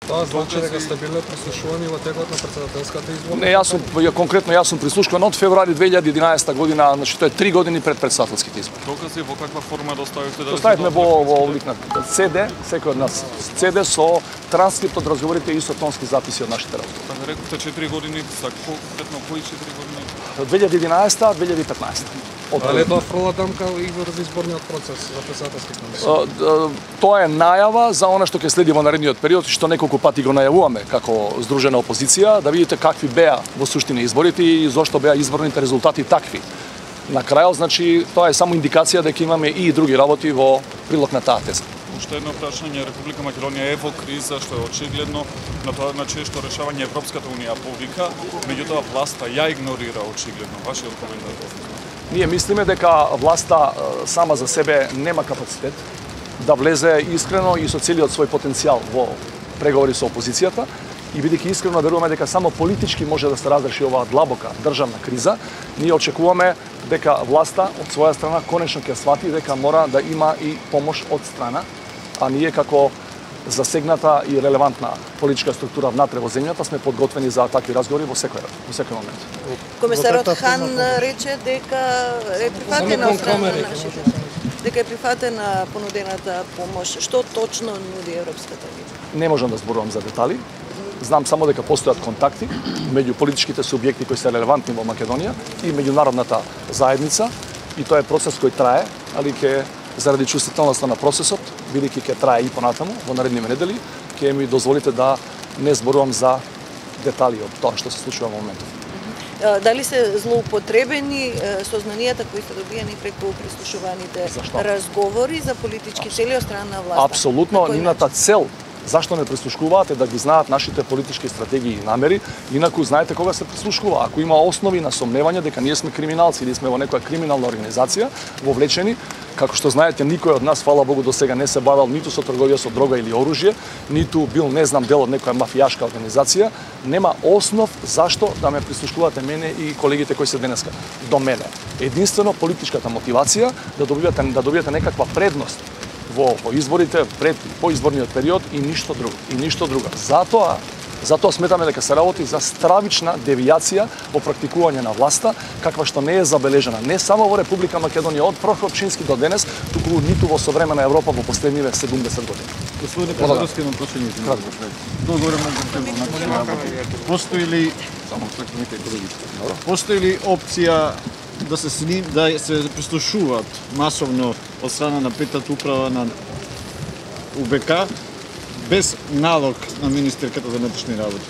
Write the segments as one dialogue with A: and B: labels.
A: Тоа значи дека сте биле прислушувани во текот на претседателската изборна?
B: Не, јас сум прислушуван од февруари 2011 година, значи тоа е 3 години пред претседателските избори.
C: Докази во каква форма доставивте?
B: Доставивме во облик на CD, секој од нас CD со транскрипт од разговорите и со тонски записи од нашите разговори.
C: Така рековте 4 години, за конкретно кои 4 години?
B: 2011-2015.
A: Дали тоа фрла дамка и во изборниот процес за претседателските избори?
B: Тоа е најава за она што ќе следи во наредниот период, што неколку пати го најавуваме како здружена опозиција, да видите какви беа во суштина изборите и зошто беа изборните резултати такви. На крајот, значи, тоа е само индикација дека имаме и други работи во прилог на таа теза.
C: Уште едно прашање, Република Македонија е во криза, што е очигледно, на тоа значи што решавање Европската унија повика, меѓутоа власта ја игнорира очигледно. Вашиот коментар?
B: Ние мислиме дека власта сама за себе нема капацитет да влезе искрено и со целиот свој потенцијал во преговори со опозицијата и бидејќи искрено веруваме дека само политички може да се разреши оваа длабока државна криза, ние очекуваме дека власта од своја страна конечно ќе свати дека мора да има и помош од страна, а ние како засегната и релевантна политичка структура внатре во земјата сме подготвени за такви разговори во секој момент.
D: Комисарот Хан рече дека е прифатена од страна на нашите. Дека е прифатена понудената помош. Што точно нуди Европската унија?
B: Не можам да зборувам за детали. Знам само дека постојат контакти меѓу политичките субјекти кои се релевантни во Македонија и меѓународната заедница и тоа е процес кој трае, али ќе заради чувствителноста на процесот, бидејќи ќе трае и понатаму во наредниве недели, ќе ми дозволите да не зборувам за детали од тоа што се случува во моментов.
D: Дали се злоупотребени сознанијата кои се добиени преку прислушуваните разговори за политички цели од страна на власта?
B: Апсолутно, нивната цел зашто не прислушкуваат е да ги знаат нашите политички стратегии и намери, инаку знаете кога се прислушкува. Ако има основи на сомневање дека ние сме криминалци или сме во некоја криминална организација вовлечени, како што знаете, никој од нас, фала Богу, до сега не се бавел ниту со трговија со дрога или оружје, ниту бил, не знам, дел од некоја мафијашка организација, нема основ зашто да ме прислушкувате мене и колегите кои се денеска до мене. Единствено политичката мотивација да добиете некаква предност во изборите, пред поизборниот период и ништо друго. Затоа сметаме дека се работи за стравична девијација во практикување на власта, каква што не е забележана не само во Република Македонија од Прохопчински до денес, туку ниту во современа Европа во последниве 70 години.
E: Господине Петровски, на прашање постои ли опција да се прислушуваат масовно од страна на петата управа на УБК без налог на министерката за внатрешни работи?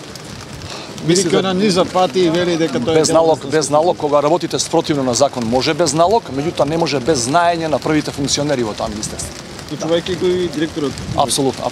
E: Бидејќи она низа пати и вели дека тоа е
B: без налог, кога работите спротивно на закон, може без налог, меѓутоа не може без знаење на првите функционери во таа министерство.
E: Вклучувајќи го и директорот.
B: Апсолутно.